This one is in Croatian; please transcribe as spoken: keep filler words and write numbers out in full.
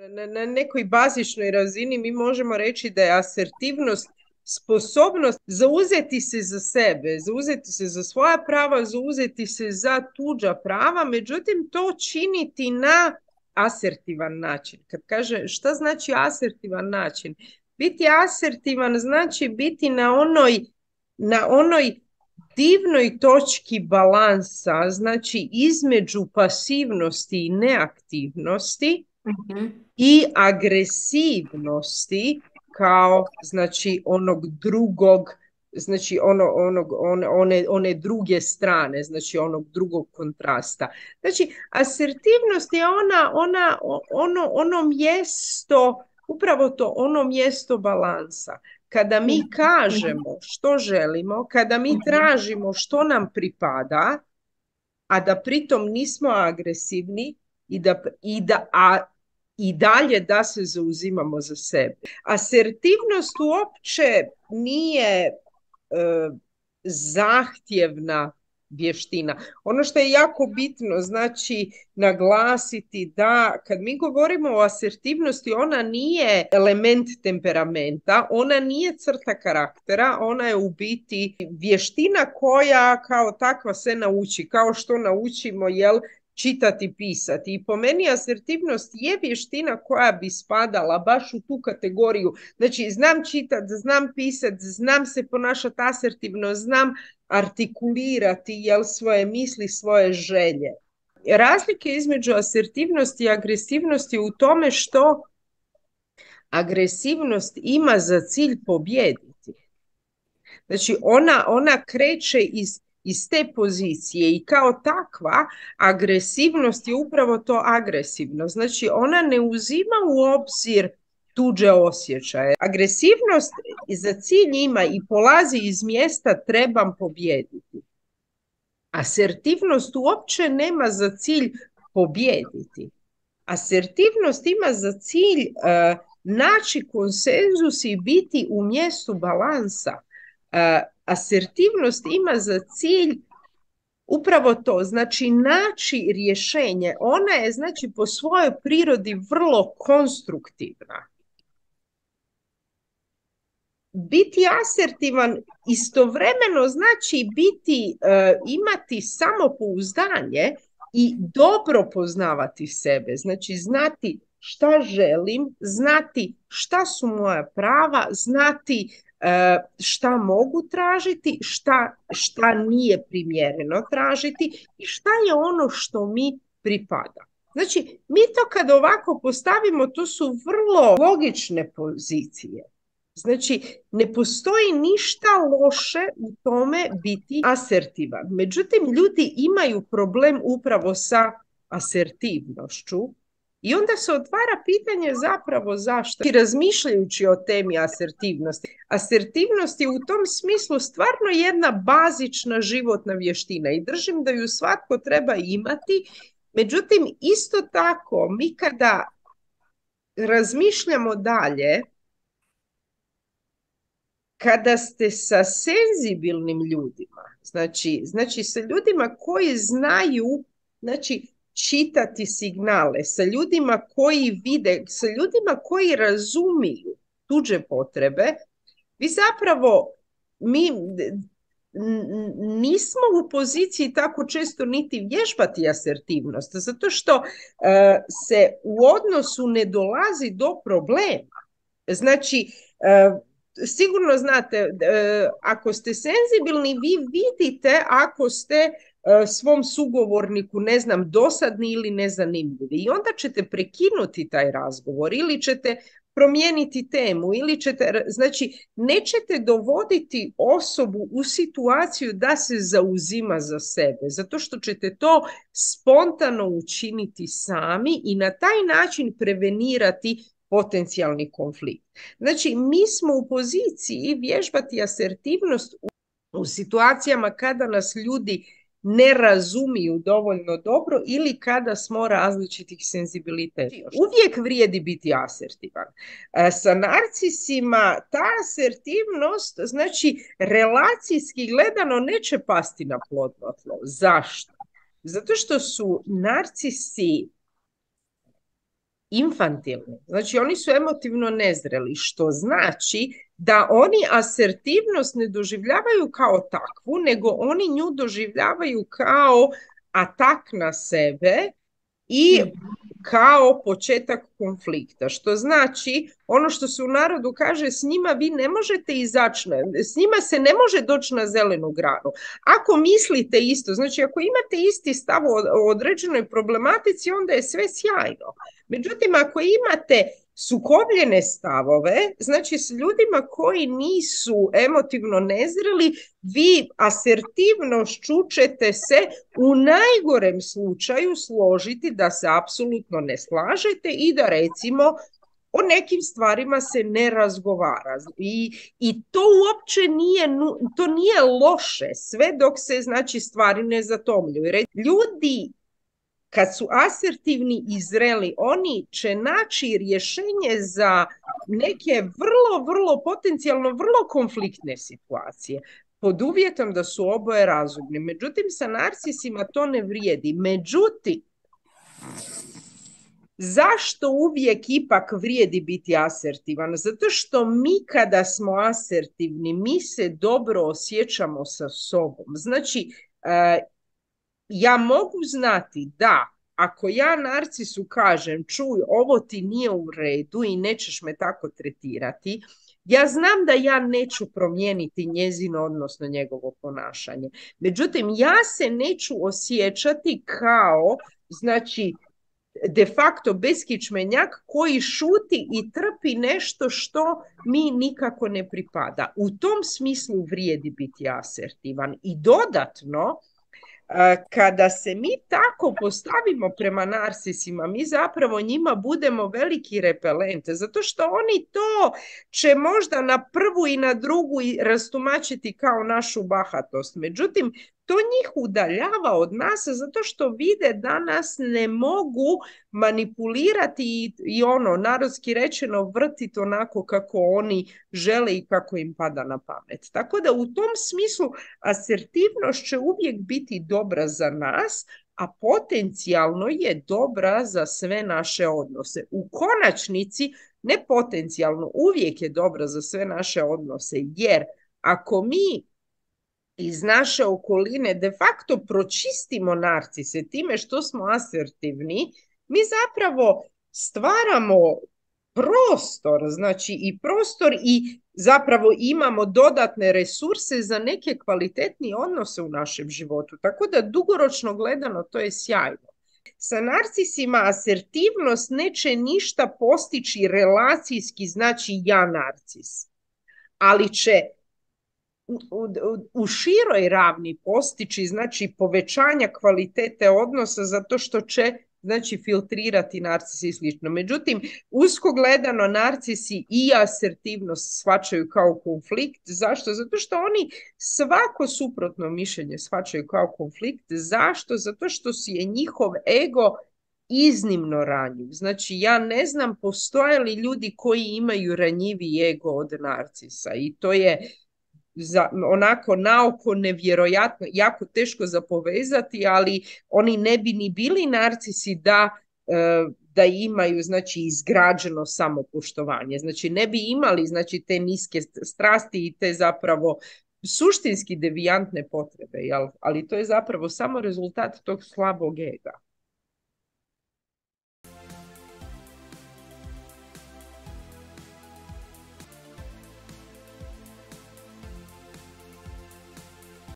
Na, na nekoj bazičnoj razini mi možemo reći da je asertivnost sposobnost zauzeti se za sebe, zauzeti se za svoja prava, zauzeti se za tuđa prava, međutim to činiti na asertivan način. Kad kaže šta znači asertivan način? Biti asertivan znači biti na onoj, na onoj divnoj točki balansa, znači između pasivnosti i neaktivnosti Mhm. i agresivnosti kao znači onog drugog, znači ono, onog, one, one, one druge strane, znači onog drugog kontrasta. Znači asertivnost je ona, ona, ono, ono mjesto, upravo to, ono mjesto balansa. Kada mi Mhm. kažemo što želimo, kada mi Mhm. tražimo što nam pripada, a da pritom nismo agresivni i da, i da a i dalje da se zauzimamo za sebe. Asertivnost uopće nije e, zahtjevna vještina. Ono što je jako bitno, znači naglasiti da kad mi govorimo o asertivnosti, ona nije element temperamenta, ona nije crta karaktera, ona je u biti vještina koja kao takva se nauči, kao što naučimo, jel, čitati, pisati. I po meni asertivnost je vještina koja bi spadala baš u tu kategoriju. Znači, znam čitati, znam pisati, znam se ponašati asertivno, znam artikulirati, jel, svoje misli, svoje želje. Razlike između asertivnosti i agresivnosti u tome što agresivnost ima za cilj pobijediti. Znači, ona, ona kreće iz, iz te pozicije i kao takva agresivnost je upravo to agresivno. Znači, ona ne uzima u obzir tuđe osjećaje. Agresivnost za cilj ima i polazi iz mjesta trebam pobijediti. Asertivnost uopće nema za cilj pobijediti. Asertivnost ima za cilj uh, naći konsenzus i biti u mjestu balansa. Uh, asertivnost ima za cilj upravo to, znači naći rješenje. Ona je znači po svojoj prirodi vrlo konstruktivna. Biti asertivan istovremeno znači biti, uh, imati samopouzdanje i dobro poznavati sebe. Znači znati šta želim, znati šta su moja prava, znati uh, šta mogu tražiti, šta, šta nije primjereno tražiti i šta je ono što mi pripada. Znači, mi to kad ovako postavimo, to su vrlo logične pozicije. Znači, ne postoji ništa loše u tome biti asertivan. Međutim, ljudi imaju problem upravo sa asertivnošću i onda se otvara pitanje zapravo zašto. I razmišljajući o temi asertivnosti. Asertivnost je u tom smislu stvarno jedna bazična životna vještina i držim da ju svatko treba imati. Međutim, isto tako, mi kada razmišljamo dalje, kada ste sa senzibilnim ljudima, znači, znači sa ljudima koji znaju, znači, čitati signale, sa ljudima koji vide, sa ljudima koji razumiju tuđe potrebe, vi zapravo, mi nismo u poziciji tako često niti vježbati asertivnost, zato što uh, se u odnosu ne dolazi do problema. Znači, uh, sigurno znate, ako ste senzibilni, vi vidite ako ste svom sugovorniku, ne znam, dosadni ili nezanimljivi. I onda ćete prekinuti taj razgovor ili ćete promijeniti temu ili ćete, znači, nećete dovoditi osobu u situaciju da se zauzima za sebe, zato što ćete to spontano učiniti sami i na taj način prevenirati potencijalni konflikt. Znači, mi smo u poziciji vježbati asertivnost u, u situacijama kada nas ljudi ne razumiju dovoljno dobro ili kada smo različitih senzibiliteta. Uvijek vrijedi biti asertivan. Sa narcisima ta asertivnost, znači, relacijski gledano neće pasti na plodno tlo. Zašto? Zato što su narcisi infantilni. Znači oni su emotivno nezreli, što znači da oni asertivnost ne doživljavaju kao takvu, nego oni nju doživljavaju kao atak na sebe i kao početak konflikta, što znači ono što se u narodu kaže, s njima vi ne možete izaći, s njima se ne može doći na zelenu granu. Ako mislite isto, znači ako imate isti stav o određenoj problematici, onda je sve sjajno. Međutim, ako imate sukobljene stavove, znači s ljudima koji nisu emotivno nezreli, vi asertivnošću ćete se u najgorem slučaju složiti da se apsolutno ne slažete i da recimo o nekim stvarima se ne razgovara. I, i to uopće nije, to nije loše, sve dok se znači stvari ne zatomljuju. Ljudi kad su asertivni i zreli, oni će naći rješenje za neke vrlo, vrlo, potencijalno vrlo konfliktne situacije, pod uvjetom da su oboje razumni. Međutim, sa narcisima to ne vrijedi. Međutim, zašto uvijek ipak vrijedi biti asertivan? Zato što mi kada smo asertivni, mi se dobro osjećamo sa sobom. Znači, uh, ja mogu znati da ako ja narcisu kažem, čuj, ovo ti nije u redu i nećeš me tako tretirati, ja znam da ja neću promijeniti njezino, odnosno njegovo ponašanje. Međutim, ja se neću osjećati kao, znači, de facto beskičmenjak koji šuti i trpi nešto što mi nikako ne pripada. U tom smislu vrijedi biti asertivan. I dodatno, kada se mi tako postavimo prema narcisima, mi zapravo njima budemo veliki repelent, zato što oni to će možda na prvu i na drugu rastumačiti kao našu bahatost. Međutim, to njih udaljava od nas zato što vide da nas ne mogu manipulirati i, i ono, narodski rečeno, vrtiti onako kako oni žele i kako im pada na pamet. Tako da u tom smislu asertivnost će uvijek biti dobra za nas, a potencijalno je dobra za sve naše odnose. U konačnici, ne potencijalno, uvijek je dobra za sve naše odnose, jer ako mi iz naše okoline de facto pročistimo narcise time što smo asertivni, mi zapravo stvaramo prostor, znači i prostor i zapravo imamo dodatne resurse za neke kvalitetnije odnose u našem životu. Tako da dugoročno gledano to je sjajno. Sa narcisima asertivnost neće ništa postići relacijski, znači ja narcis, ali će U, u, u široj ravni postići znači povećanja kvalitete odnosa zato što će znači filtrirati narcisi i slično. Međutim, usko gledano narcisi i asertivnost shvaćaju kao konflikt. Zašto? Zato što oni svako suprotno mišljenje shvaćaju kao konflikt. Zašto? Zato što je njihov ego iznimno ranjiv. Znači, ja ne znam postoje li ljudi koji imaju ranjiviji ego od narcisa i to je za, onako naoko nevjerojatno, jako teško za povezati, ali oni ne bi ni bili narcisi da, da imaju znači izgrađeno samopoštovanje. Znači ne bi imali znači te niske strasti i te zapravo suštinski devijantne potrebe, jel? Ali to je zapravo samo rezultat tog slabog ega.